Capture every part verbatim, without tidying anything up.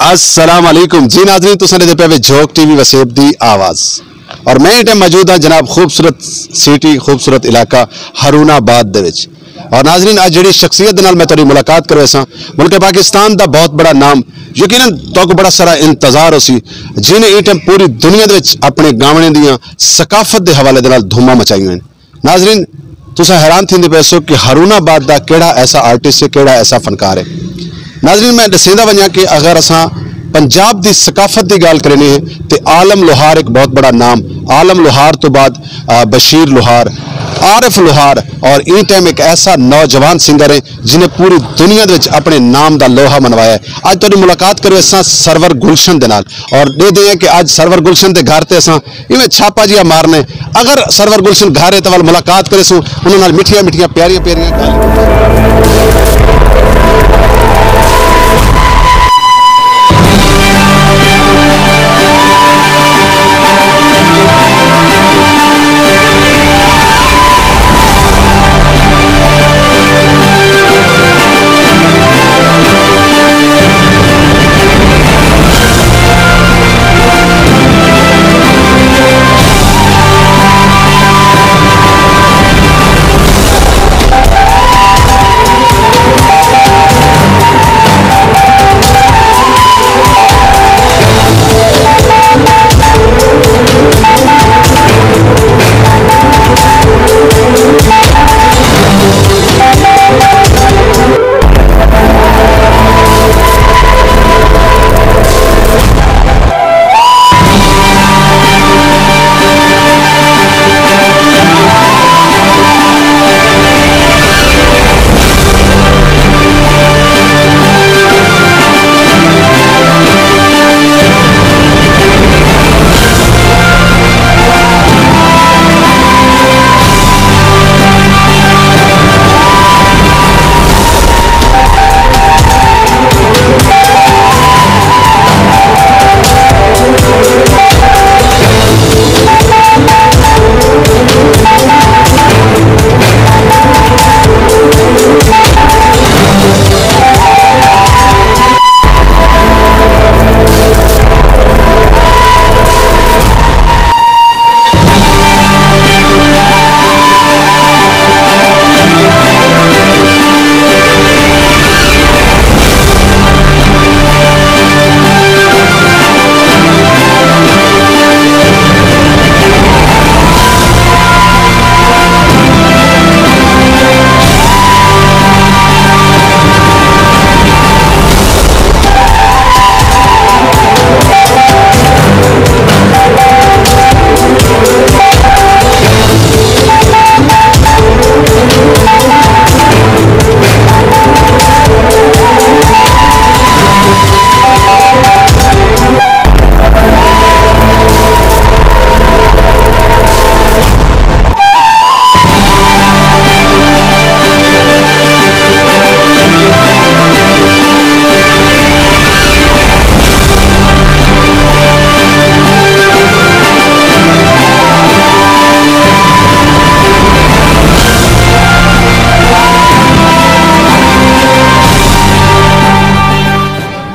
السلام علیکم جی ناظرین، تساں ݙیہدے پئے وے جھوک ٹی وی وسیب دی آواز، اور میں ایں ٹائم موجود ہاں جناب خوبصورت سٹی، خوبصورت علاقہ ہارون آباد دے وچ۔ اور ناظرین، اڄ جڑی شخصیت دے نال میں تہاݙی ملاقات کرویساں، ملک پاکستان دا بہت بڑا نام، یقیناً تہاکوں بڑا سارا انتظار ہوسی، جنہیں ایں ٹائم پوری دنیا دے وچ اپݨے گاوݨے دیاں، ثقافت دے حوالے دے نال دھوماں مچائیاں ہن۔ ناظرین، تساں حیران تھیندے پئے سو کہ ہارون آباد دا کیڑھا ایسا آرٹسٹ ہے، کیڑھا ایسا فنکار ہے۔ ناظرین، میں ݙسیندا ونڄاں کہ اگر اساں پنجاب دی ثقافت دی ڳالھ کرݨی ہے تے عالم لوہار ایک بہت بڑا نام، عالم لوہار تو بعد، آ، بشیر لوہار، عارف لوہار، اور ایں ٹائم ایک ایسا نوجوان سنگر ہے جنہیں پوری دنیا دے وچ اپݨے نام دا لوہا منوایا ہے۔ اڄ تہاݙی ملاقات کرویساں سرور گلشن دے نال، اور ݙیہدے ہیں کہ اڄ سرور گلشن دے گھر تے اساں ایویں چھاپا جیہا مارنے۔ اگر سرور گلشن گھر ہے تاں ول ملاقات کریسوں انہاں نال، مٹھیاں مٹھیاں پیاریاں پیاریاں ڳالھیں۔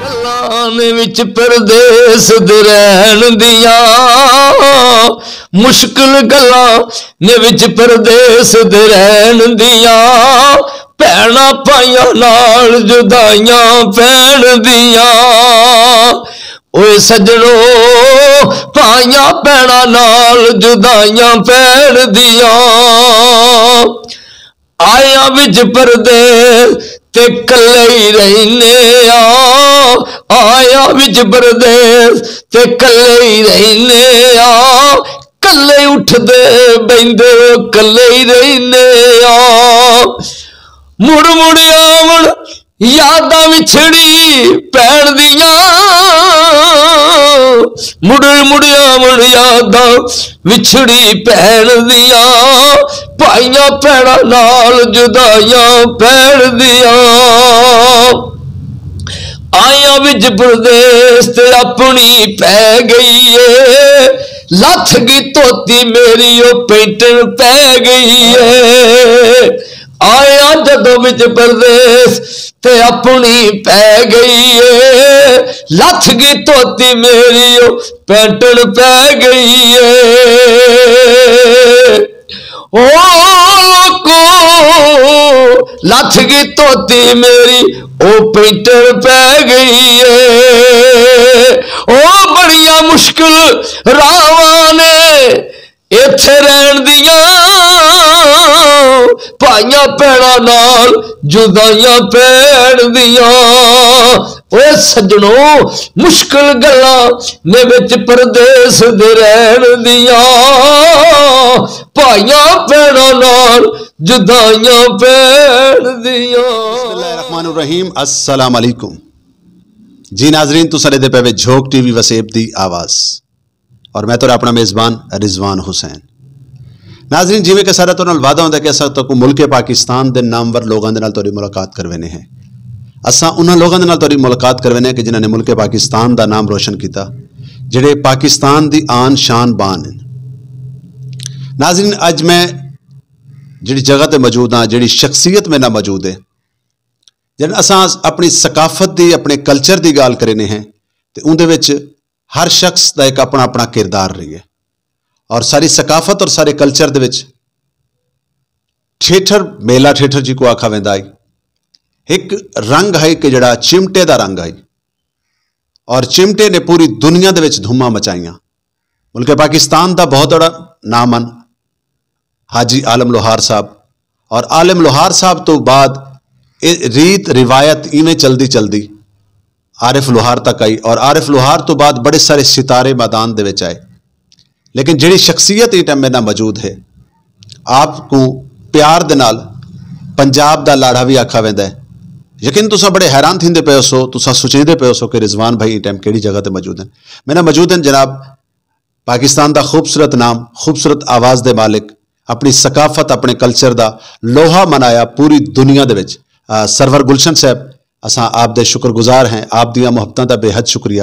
گلاں نے وچ پردیس دے رہن دیاں، مشکل گلاں نے وچ پردیس دے رہن دیاں، بھیݨاں پائیاں نال جدائیاں پہن دیاں۔ اوئے سڄݨو، پائیاں بھیݨاں نال جدائیاں پہن دیاں۔ آیاں وچ پردیس تے کلے ہی رہنے آں، آیاں وچ پردیس تے کلے ہی رہنے آں، کلے اٹھدے ٻہندے کلے ہی رہنے آں۔ مڑ مڑ آوݨ یاداں وچھڑی بھیݨ دیاں، مڑ مڑ آوݨ یاداں وچھڑی بھیݨ دیاں، پائیاں بھیݨاں نال جدائیاں بھیݨ دیاں۔ آیاں وچ پردیس تے اپݨی پئے ڳئی اے، لتھ ڳئی دھوتی میری او پینٹن پئے ڳئی اے۔ آیا جدوں وچ پردیس تے اپݨی پئے ڳئی اے، لتھ ڳئی دھوتی میری او پینٹݨ پئے ڳئی اے۔ او کو لتھ ڳئی دھوتی میری او پینٹݨ پئے ڳئی اے۔ او بڑیاں مشکل راہواں نے ایتھے رہݨ دیاں، بھائیاں بھیݨاں نال جدائیاں پیݨ دیاں۔ اوئے سڄݨو، مشکل گلاں نے وچ پردیس دے رہݨ دیاں، بھائیاں بھیݨاں نال جدائیاں پیݨ دیاں۔ بسم اللہ الرحمن الرحیم۔ السلام علیکم۔ جی ناظرین، تساں ݙیہدے پئے وے جھوک ٹی وی وسیب دی آواز، اور میں تہاݙا اپݨا میزبان رضوان حسین۔ ناظرین، جیویں کہ سارا تہاݙے نال وعدہ ہوندا کہ اساں تہاکوں ملک پاکستان دے نامور لوگاں دے نال تہاݙی ملاقات کرویندے ہیں، اساں انہاں لوگاں دے نال تہاݙی ملاقات کرویندے ہیں کہ جنہاں نے ملک پاکستان دا نام روشن کیتا، جڑے پاکستان دی آن شان بان ہیں۔ ناظرین، اڄ میں جڑی جگہ تے موجود ہاں، جڑی شخصیت میرے نال موجود ہے، جن اساں اپݨی ثقافت دی، اپݨے کلچر دی ڳالھ کریندے ہیں تے اوندے وچ ہر شخص دا ایک اپݨا اپݨا کردار رہی ہے، اور ساری ثقافت اور سارے کلچر دے وچ ٹھیٹھر، میلہ ٹھیٹھر جی کو آکھا ویندا ہے، ایک رنگ ہے کہ جڑا چمٹے دا رنگ ہے، اور چمٹے نے پوری دنیا دے وچ دھوماں مچائیاں۔ ملک پاکستان دا بہت بڑا نام ان حاجی عالم لوہار صاحب، اور عالم لوہار صاحب تو بعد اے ریت روایت ایویں چلدی چلدی عارف لوہار تک آئی، اور عارف لوہار تو بعد بڑے سارے ستارے میدان دے وچ آئے۔ لیکن جڑی شخصیت ایں ٹائم میرے نال موجود ہے، آپ کو پیار دے نال پنجاب دا لاڑا بھی آکھا ویندا ہے۔ یقین تساں بڑے حیران تھیندے پئے ہو سو، تساں سوچیندے پئے ہو سو کہ رضوان بھائی ایں ٹائم کیڑی جگہ تے موجود ہیں۔ میرے نال موجود ہیں جناب پاکستان دا خوبصورت نام، خوبصورت آواز دے مالک، اپݨی ثقافت، اپݨے کلچر دا لوہا منایا پوری دنیا دے وچ۔ آ، سرور گلشن صاحب، اساں آپ دے شکر گزار ہیں، آپ دیاں محبتاں دا بے حد شکریہ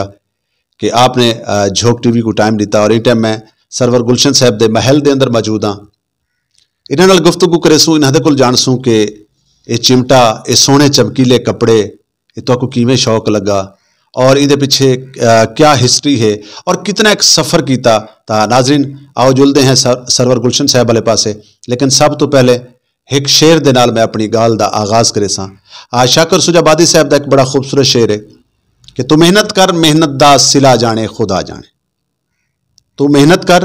کہ آپ نے، آ، جھوک ٹی وی کو ٹائم ݙتا، اور ایں ٹائم میں سرور گلشن صاحب دے محل دے اندر موجود ہاں۔ انہاں نال گفتگو کریسوں، انہاں دے کول جانسوں کہ اے چمٹا، اے سوہݨے چمکیلے کپڑے، اے تہاکوں کیویں شوق لگا اور ایندے پچھے، آ، کیا ہسٹری ہے اور کتنا ایک سفر کیتا۔ تاں ناظرین، آؤ جلدے ہیں سر-، سرور گلشن صاحب والے پاسے، لیکن سب تو پہلے ایک شعر دے نال میں اپݨی ڳالھ دا آغاز کریساں۔ آ، شاکر سجا آبادی صاحب دا ایک بڑا خوبصورت شعر ہے کہ تو محنت کر، محنت دا صلہ جاݨے خدا جاݨے۔ تو محنت کر،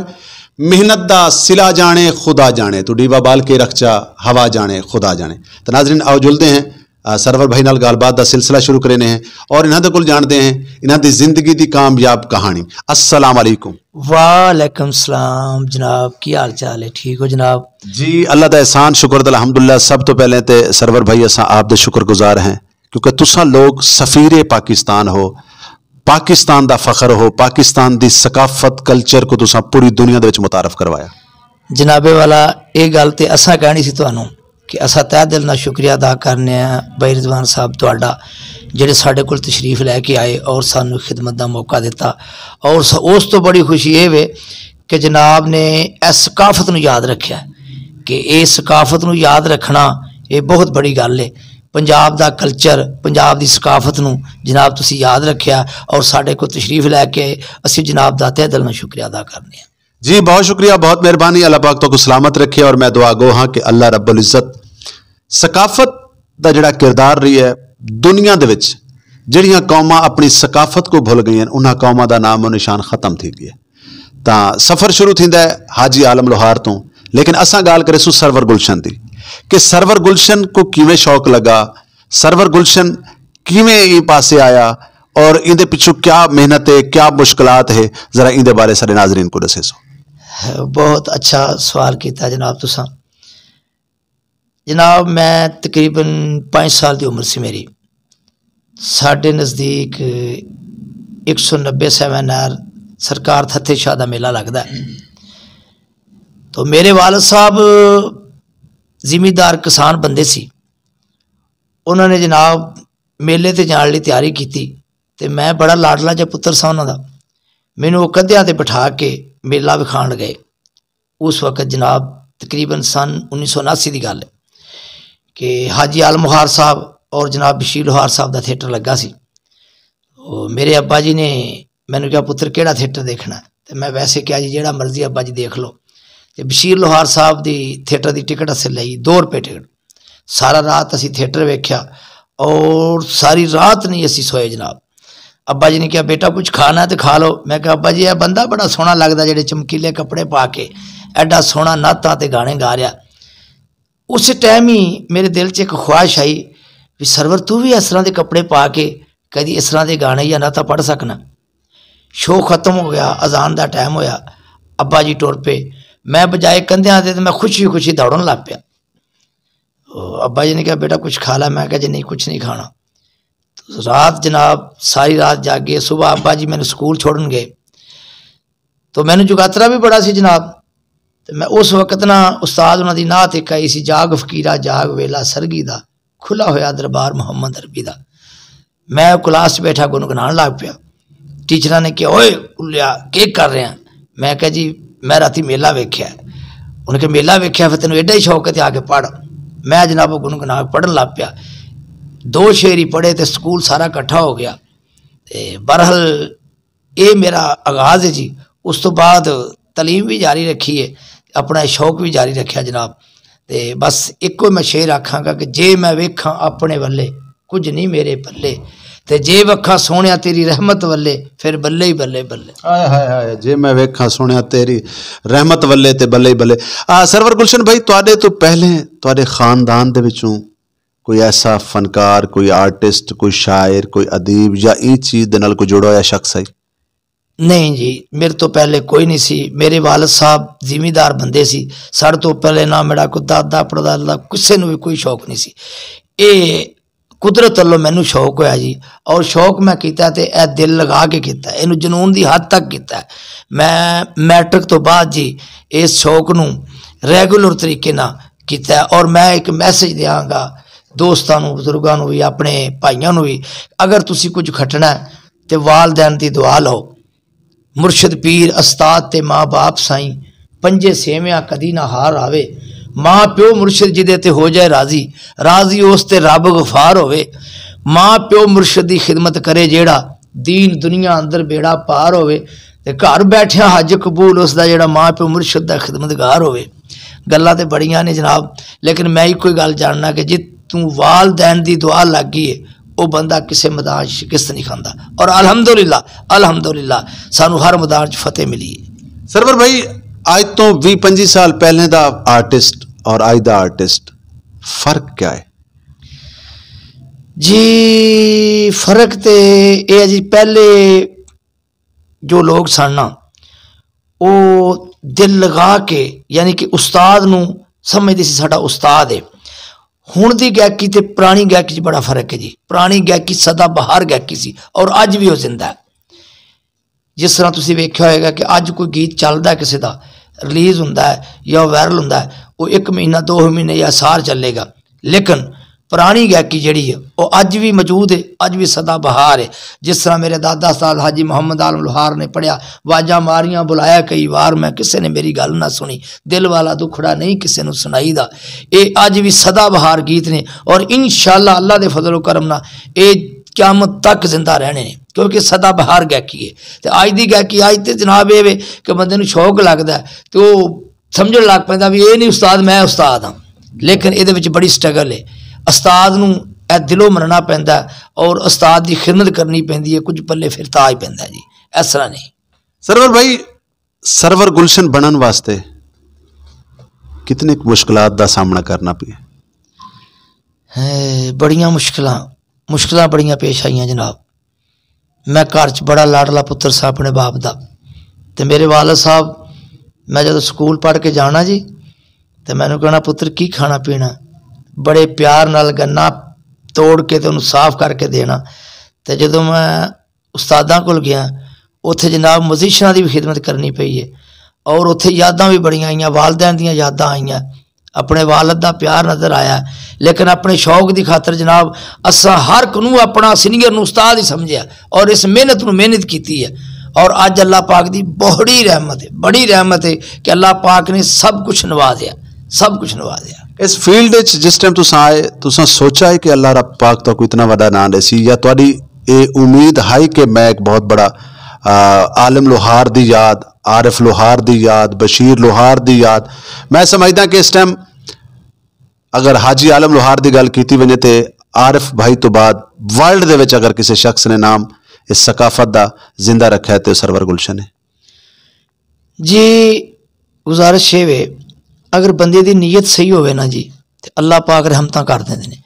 محنت دا صلہ جاݨے خدا جاݨے، تو ݙیوا ٻال کے رکھ چا، ہوا جاݨے خدا جاݨے۔ تو ناظرین، آؤ جلدے ہیں، آ، سرور بھائی نال ڳالھ بات دا سلسلہ شروع کریندے ہیں اور انہاں دے کول جاݨدے ہیں انہاں دی زندگی دی کامیاب کہاݨی۔ السلام علیکم۔ وعلیکم السلام جناب، کی حال چال ہے؟ ٹھیک ہو جناب؟ جی، اللہ دا احسان، شکر تے الحمدللہ۔ سب تو پہلے تے سرور بھائی، اساں آپ دے شکر گزار ہیں، کیونکہ تساں لوگ سفیر پاکستان ہو، پاکستان دا فخر ہو، پاکستان دی ثقافت، کلچر کو تساں پوری دنیا دے وچ متعارف کروایا۔ جناب والا، اے ڳالھ تے اساں کہݨی سی تہانوں کہ اساں تہہ دل نال شکریہ ادا کرنے ہیں بھائی رضوان صاحب تہاݙا، جڑے ساݙے کول تشریف لے کے آئے اور سانوں خدمت دا موقع دتا۔ اور س-، اس تو بڑی خوشی اے وے کہ جناب نے اس ثقافت نوں یاد رکھیا کہ اے ثقافت نوں یاد رکھݨا، اے بہت بڑی ڳالھ ہے۔ پنجاب دا کلچر، پنجاب دی ثقافت نوں جناب تسی یاد رکھیا اور ساݙے کول تشریف لے کے آئے، اسی جناب دا تہہ دل نال شکریہ ادا کرنے ہیں۔ جی، بہت شکریہ، بہت مہربانی۔ اللہ پاک تہاکوں سلامت رکھے، اور میں دعا گو ہاں کہ اللہ رب العزت ثقافت دا جڑا کردار رہی ہے دنیا دے وچ، جڑیاں قوماں اپݨی ثقافت کو بھل ڳئین، انہاں قوماں دا نام و نشان ختم تھی ڳیا ہے۔ تاں سفر شروع تھیندا ہے حاجی عالم لوہار توں، لیکن اساں ڳالھ کریسوں سرور گلشن دی کہ سرور گلشن کو کیویں شوق لگا، سرور گلشن کیویں ایں پاسے آیا اور ایندے پچھوں کیا محنت ہے، کیا مشکلات ہے، ذرا ایندے بارے سارے ناظرین کو ݙسیسو۔ بہت اچھا سوال کیتا جناب تساں۔ جناب، میں تقریباً پنج سال دی عمر سی میری، ساݙے نزدیک ایک سو نبے سیون آر سرکار تھتھے شاہ دا میلہ لڳدا ہے۔ تو میرے والد صاحب زمیندار کسان بندے سی، انہاں نے جناب میلے تے جاݨ لئی تیاری کیتی، تے میں بڑا لاڈلا جا پتر سا انہاں دا۔ مینوں او کندھیاں تے بٹھا کے میلہ وکھاݨ گئے۔ اس وقت جناب تقریباً سن انیس سو اناسی دی ڳالھ ہے۔ کہ حاجی عالم خار صاحب اور جناب بشیر لوہار صاحب دا تھیٹر لگا سی۔ او میرے ابا جی نے مینوں کہا، "پتر، کیڑا تھیٹر دیکھنا ہے؟" تے میں ویسے کہا، "جی، جیڑا مرضی ابا جی دیکھ لو۔" تے بشیر لوہار صاحب دی تھیٹر دی ٹکٹ اسے لئی، دو روپے ٹکٹ۔ سارا رات اسی تھیٹر ویکھیا اور ساری رات نہیں اسی سوئے جناب۔ ابا جی نے کہا، "بیٹا، کچھ کھانا ہے تے کھا لو۔" میں کہا، "ابا جی، اے بندہ بڑا سوہنا لگدا، جیڑے چمکیلے کپڑے پا کے ایڈا سوہنا نعتاں تے گانے گا رہیا۔" اس ٹائم ہی میرے دل چ ایک خواہش آئی، بھی سرور، تو بھی اس طرح دے کپڑے پا کے کدی اس طرح دے گانے یا نعتاں پڑھ سکنا۔ شو ختم ہو گیا، اذان دا ٹائم ہویا، ابا جی ٹر پے۔ میں بجائے کندھیاں دے تے میں خوشی خوشی دوڑن لگ پیا۔ او ابا جی نے کہا، "بیٹا، کچھ کھا لا۔" میں کہا، "جی نہیں، کچھ نہیں کھانا۔" رات جناب، ساری رات جاگے، صبح ابا جی مینوں سکول چھوڑن گئے۔ تو مینوں جگاترا بھی بڑا سی جناب۔ تے میں اس وقت نا استاد انہاں دی نعت ہک آئی سی، "جاگ فقیرا جاگ، ویلا سرگی دا، کھلا ہویا دربار محمد عربی دا۔" میں کلاس چ بیٹھا گنگنان لگ پیا۔ ٹیچراں نے کہا، "اوئے الیا، کی کر رہے ہیں؟" میں کہا، "جی، میں راتی میلہ ویکھیا ہے۔" انہاں کہا، "میلہ ویکھیا، پھر تینوں ایڈا ہی شوق ہے تے آ کے پڑھ۔" میں جناب او گنگنا کے پڑھن لگ پیا۔ دو شعر ہی پڑھے تے سکول سارا اکٹھا ہو گیا۔ تے بہرحال اے میرا آغاز ہے جی۔ اس تو بعد تعلیم بھی جاری رکھی ہے، اپنا شوق بھی جاری رکھیا جناب۔ تے بس ایکو میں شعر آکھاں گا کہ جے میں ویکھاں اپنے ولے، کچھ نہیں میرے پلے۔ تے جے وکھاں سوہݨیا تیری رحمت ولے، پھر بلے ہی بلے بلے۔ ہائے ہائے ہائے، جے میں ویکھاں سوہݨیا تیری رحمت ولے تے بلے ہی بلے۔ آ، سرور گلشن بھائی، تہاݙے تو پہلے تہاݙے خاندان دے وچوں کوئی ایسا فنکار، کوئی آرٹسٹ، کوئی شاعر، کوئی ادیب یا ایں چیز دے نال کوئی جڑا ہویا شخص ہے؟ نہیں جی، میرے تو پہلے کوئی نہیں سی۔ میرے والد صاحب زمیندار بندے سی۔ ساݙے تو پہلے نہ میرا کوئی دادا پڑدادا، کسے نوں بھی کوئی شوق نہیں سی۔ اے قدرت ولوں مینوں شوق ہویا جی، اور شوق میں کیتا تے اے دل لگا کے کیتا، اینوں جنون دی حد تک کیتا۔ میں میٹرک تو بعد جی اس شوق نوں ریگولر طریقے نال کیتا، اور میں ایک میسج دیاں گا دوستاں نوں، بزرگاں نوں بھی، اپنے بھائیاں نوں بھی، اگر تسی کچھ کھٹنا ہے تے والدین دی دعا لو۔ مرشد پیر استاد تے ماں باپ سائیں، پنجے سیویاں کدی نہ ہار آوے۔ ماں پیو مرشد جدے تے ہو جائے راضی، راضی اس تے رب غفار ہووے۔ ماں پیو مرشد دی خدمت کرے جیڑھا، دین دنیا اندر بیڑا پار ہووے۔ تے گھر بیٹھیاں حج قبول اس دا جیڑھا ماں پیو مرشد دا خدمتگار ہووے۔ گلاں تے بڑیاں نے جناب، لیکن میں ایکو ہی گل جاننا کہ جتوں والدین دی دعا لگ گئی ہے، او بندہ کسے میدان چ شکست نہیں کھاندا۔ اور الحمدللہ، الحمدللہ سانوں ہر میدان چ فتح ملی ہے۔ سرور بھائی، اج تو ویہہ پنجی سال پہلے دا آرٹسٹ اور اج دا آرٹسٹ، فرق کیا ہے؟ جی، فرق تے اے ہے جی، پہلے جو لوگ سن نا، او دل لگا کے، یعنی کہ استاد نوں سمجھدے سی ساڈا استاد ہے۔ ہن دی گائیکی تے پرانی گائیکی چ بڑا فرق ہے جی۔ پرانی گائیکی سدا بہار گائیکی سی اور اج بھی او زندہ ہے۔ جس طرح تسی ویکھیا ہوئے گا کہ اج کوئی گیت چلدا ہے کسے دا، ریلیز ہوندا ہے یا وائرل ہوندا ہے، او ایک مہینہ، دو مہینے یا سال چلے گا، لیکن پرانی گائیکی جیڑھی ہے، او اج وی موجود ہے، اج وی سدا بہار ہے۔ جس طرح میرے دادا استاد حاجی محمد عالم لوہار نے پڑھیا، "واجاں ماریاں بلایا کئی وار میں، کسے نے میری گل نہ سنی، دل والا دکھڑا نہیں کسے نوں سنائی دا۔" اے اج وی سدا بہار گیت نے، اور انشاءاللہ اللہ دے فضل و کرم نال اے قیامت تک زندہ رہنے نے، کیونکہ سدا بہار گائیکی ہے۔ تے اج دی گائیکی، اج تے جناب اے وے کہ بندے نوں شوق لگدا ہے، تے او سمجھݨ لگ پیندا بھی اے نہیں استاد، میں استاد ہاں۔ لیکن ایدے وچ بڑی سٹرگل ہے۔ استاد نوں اے دلوں مننا پیندا ہے اور استاد دی خدمت کرنی پیندی ہے، کجھ پلے پھر تاج پیندا ہے جی، اس طرح نہیں۔ سرور بھائی، سرور گلشن بݨن واسطے کتنی مشکلات دا سامنا کرنا پیا؟ ہے، بڑیاں مشکلاں، مشکلاں بڑیاں پیش آئیاں جناب۔ میں گھر چ بڑا لاڈلا پتر ساں اپنے باپ دا۔ تے میرے والد صاحب، میں جدوں سکول پڑھ کے جانا جی، تے مینوں کہنا، "پتر، کی کھانا پینا؟" بڑے پیار نال گنا توڑ کے تے انہوں صاف کر کے دینا۔ تے جدوں میں استاداں کول گیا، اتھے جناب میوزیشناں دی بھی خدمت کرنی پئی ہے، اور اتھے یاداں بھی بڑیاں آئیاں، والدین دیاں یاداں آئیاں۔ اپنے والد دا پیار نظر آیا، لیکن اپنے شوق دی خاطر جناب، اساں ہر کنوں اپنا سینئر نوں استاد ہی سمجھیا اور اس محنت نوں محنت کیتی ہے۔ اور اج اللہ پاک دی بڑی رحمت ہے، بڑی رحمت ہے کہ اللہ پاک نے سب کچھ نوازیا۔ سب کچھ نوازیا۔ اس فیلڈ وچ جس ٹائم تساں آئے، تساں سوچا ہے کہ اللہ رب پاک تہاکوں اتنا وݙا ناں ݙیسی، یا تہاݙی اے امید ہائی کہ میں ایک بہت بڑا، آ، عالم لوہار دی یاد، عارف لوہار دی یاد، بشیر لوہار دی یاد؟ میں سمجھدا کہ اس ٹائم اگر حاجی عالم لوہار دی ڳالھ کیتی ونڄے تے عارف بھائی توں بعد ورلڈ دے وچ اگر کسے شخص نے نام اس ثقافت دا زندہ رکھیا ہے تے او سرور گلشن ہے۔ جی، گزارش اے وے، اگر بندے دی نیت صحیح ہووے نا جی، تے اللہ پاک رحمتاں کر ݙیندے نے۔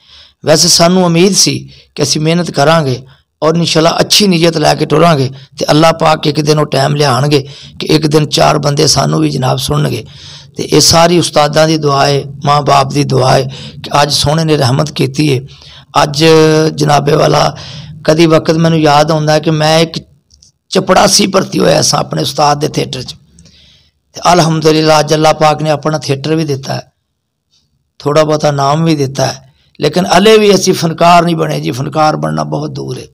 ویسے سانوں امید سی کہ اسی محنت کراں گے اور انشاءاللہ اچھی نیت لے کے ٹراں گے، تے اللہ پاک ایک دن او ٹائم لیاݨ گے کہ ایک دن چار بندے سانوں وی جناب سݨن گے۔ تے اے ساری استاداں دی دعا ہے، ماں باپ دی دعا ہے کہ اڄ سوہݨے نے رحمت کیتی ہے۔ اڄ جناب والا، کدی وقت مینوں یاد آوندا ہے کہ میں ایک چپڑاسی بھرتی ہویا ساں اپݨے استاد دے تھیٹر چ۔ تے الحمدللہ اڄ اللہ پاک نے اپݨا تھیٹر وی ݙتا ہے، تھوڑا بہتا نام وی ݙتا ہے، لیکن ہلے وی اسی فنکار نہیں بݨے جی، فنکار بݨنا بہت دور ہے۔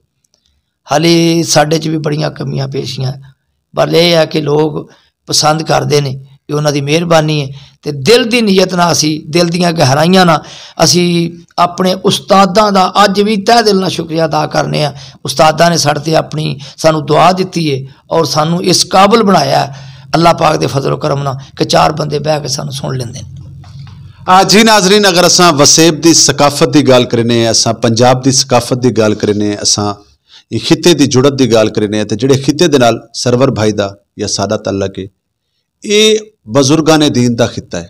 ہلے ساݙے چ وی بڑیاں کمیاں پیشیاں ہیں، پر اے ہے کہ لوگ پسند کردے نے، اے انہاں دی مہربانی ہے۔ تے دل دی نیت نہ اسی، دل دیاں گہرائیاں نہ اسی اپݨے استاداں دا اڄ وی تہہ دل نال شکریہ ادا کرنے آں۔ استاداں نے ساݙے تے اپݨی سانوں دعا ݙتی ہے اور سانوں اس قابل بݨایا ہے اللہ پاک دے فضل و کرم نال کہ چار بندے بہہ کے سانوں سݨ لیندے نے۔ آ، جی ناظرین، اگر اساں وسیب دی ثقافت دی ڳالھ کرینے، اساں پنجاب دی ثقافت دی ڳالھ کرینے، اساں ایں خطے دی جڑت دی ڳالھ کرینے تے جڑے خطے دے نال سرور بھائی دا یا ساݙا تعلق ہے، اے بزرگان دین دا خطہ ہے،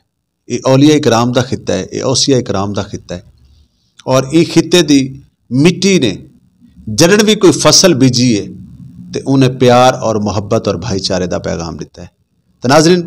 اے اولیاء کرام دا خطہ ہے، اے اوصیاء کرام دا خطہ ہے۔ اور ایں خطے دی مٹی نے جݙݨ وی کوئی فصل بیجی ہے تے اوں نے پیار اور محبت اور بھائی چارے دا پیغام ݙتا ہے۔ تے ناظرین،